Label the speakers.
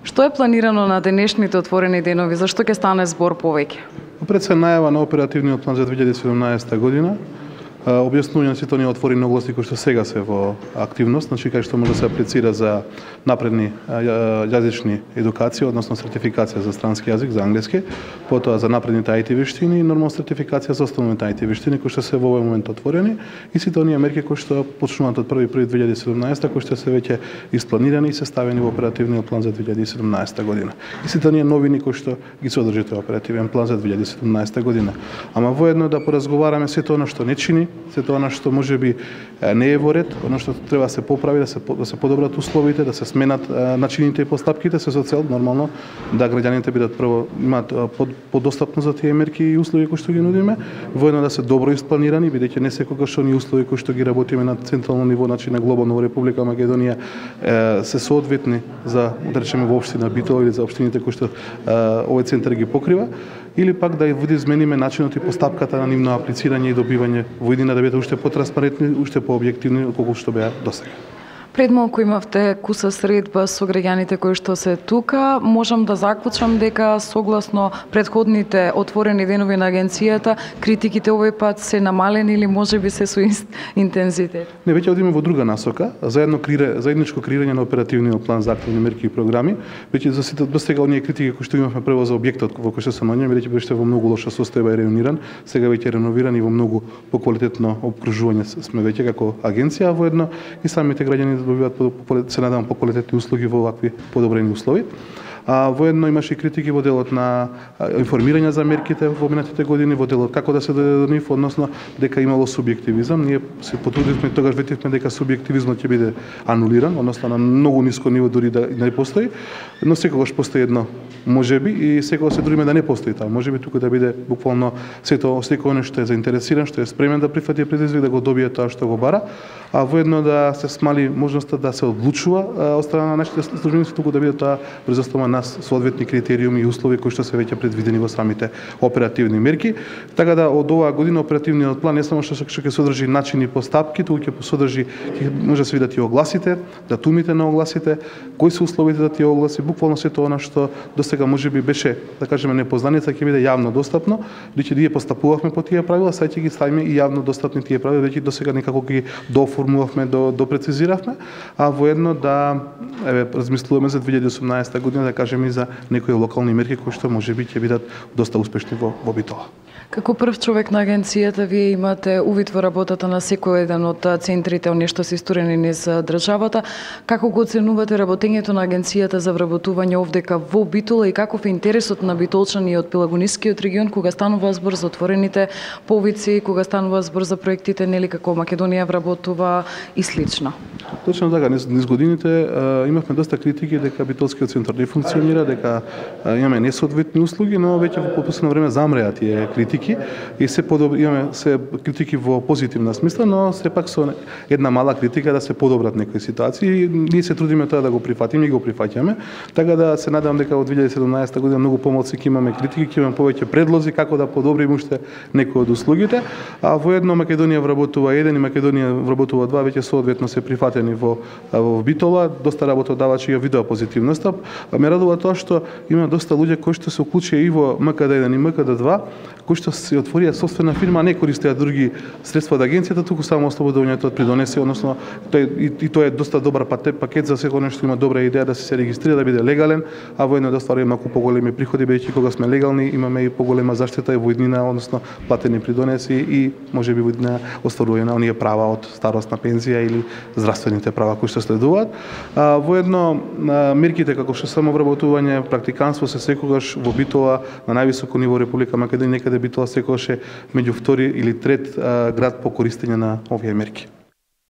Speaker 1: Што е планирано на денешните отворени денови? Зашто ќе стане збор повеќе?
Speaker 2: Пред се најава на оперативниот план за 2017 година, објаснување на сите оние отворени области кои што сега се во активност, значи кај што може да се аплицира за напредни јазични едукации, односно сертификација за странски јазик, за англиски, потоа за напредните IT вештини и нормална сертификација за останалите IT вештини кои што се во овој момент отворени и сите оние мерки кои што почнуваат од 1.1.2017 кои што се веќе испланирани и се ставени во оперативниот план за 2017 година. И сите оние новини кои што ги содржи тој оперативен план за 2017 година. Ама воедно да поразговараме сето она што не чини, сето она што можеби не е во ред, она што треба да се поправи, да се подобрат условите, да се сменат начините и постапките, се со цел нормално да граѓаните бидат прво имаат подостапност за тие мерки и услови кои што ги нудиме, воедно да се добро испланирани, бидејќи не секогаш оние услови кои што ги работиме на централно ниво, значи на глобално во Република Македонија се соодветни за, да речеме, во општина Битола или за општините кои што овој центар ги покрива, или пак да ги измениме начинот и постапката на нивно аплицирање и добивање во иднина да бидат уште потранспарентни, уште пообјективни отколку што беа досега.
Speaker 1: Пред малку имавте куса средба со граѓаните кои што се тука. Можам да заклучам дека согласно предходните отворени денови на агенцијата, критиките овој пат се намалени или можеби се со интензитет? Не,
Speaker 2: веќе одиме во друга насока, заедничко креирање на оперативниот план за активни мерки и програми. Веќе за сите досега оние критики кои што имавме прво за објектот во кој што се наоѓаме, бидејќи беше во многу лоша состојба и реновиран, сега веќе реновиран и во многу поквалитетно обкружување сме веќе како агенција, воедно и самите граѓани добиваат, се надевам, поквалитетни услуги во вакви подобрени услови. Воедно имаше и критики во делот на информирање за мерките во минатите години, во делот како да се дојде до нив, односно дека имало субјективизам. Ние се потрудивме, тогаш ветивме дека субјективизмот ќе биде анулиран, односно на многу ниско ниво дури да не постои, но секогаш постои едно можеби и секогаш се трудиме да не постои таа можеби, туку да биде буквално секој оној што е заинтересиран, што е спремен да прифати предизвик, да го добие тоа што го бара, а воедно да се смали можноста да се одлучува од страна на нашите службеници, туку да биде тоа врз основа на соодветни критериуми и услови кои што се веќе предвидени во самите оперативни мерки. Така да од оваа година оперативниот план не само што ќе содржи начини и постапки, туку ќе содржи, може да се видат и огласите, датумите на огласите, кои се условите за тие огласи, буквално сето она што досега можеби беше, да кажеме, непознаница, ќе биде јавно достапно, бидејќи ние постапувавме по тие правила, сега ќе ги ставиме и јавно достапни тие правила, бидејќи досега некако ги дооформувавме, допрецизиравме, а воедно да размислуваме за 2018 година, да кажеме и за некои локални мерки кои што можеби ќе бидат доста успешни во Битола.
Speaker 1: Како прв човек на агенцијата, вие имате увид во работата на секој еден од центрите, оние што се исторени низ државата. Како го оценувате работењето на агенцијата за вработување овдека во Битола и каков е интересот на битолчани од Пелагонискиот регион кога станува збор за отворените повици, кога станува збор за проектите, нели како Македонија вработува и слично?
Speaker 2: Точно така, низ годините имавме доста критики дека Битолскиот центар не функционира, дека имаме несоодветни услуги, но веќе во последно време замреа тие критики и се имаме се критики во позитивна смисла, но сепак со една мала критика да се подобрат некои ситуации. Ние се трудиме тоа да го прифатиме и го прифаќаме, така да се надевам дека во 2017 година многу помалку ќе имаме критики, ќе имаме повеќе предлози како да подобриме уште некои од услугите, а воедно Македонија вработува 1 и Македонија вработува 2, веќе соодветно се прифатени во Битола, доста работодавачи ја видоа позитивноста. Ме радува тоа што има доста луѓе кои што се уклучија и во МКД1 и МКД2, кои што се отворија собствена фирма, а не користеа други средства од агенцијата, туку само ослободувањето од придонеси, односно тоа е доста добар пакет за секој нешто има добра идеја да се регистрира, да биде легален, а воедно да стварува малку поголеми приходи, бидејќи кога сме легални имаме и поголема заштита и во иднина, односно платени придонеси и можеби во иднина остварување на оние права од старосна пензија или здравствените права кои што следуваат. Воедно мерките како што самовработување, практиканство се секогаш во Битола на највисоко ниво Република Македонија, некаде Битола секогаш е меѓу втори или трет град по користење на овие мерки.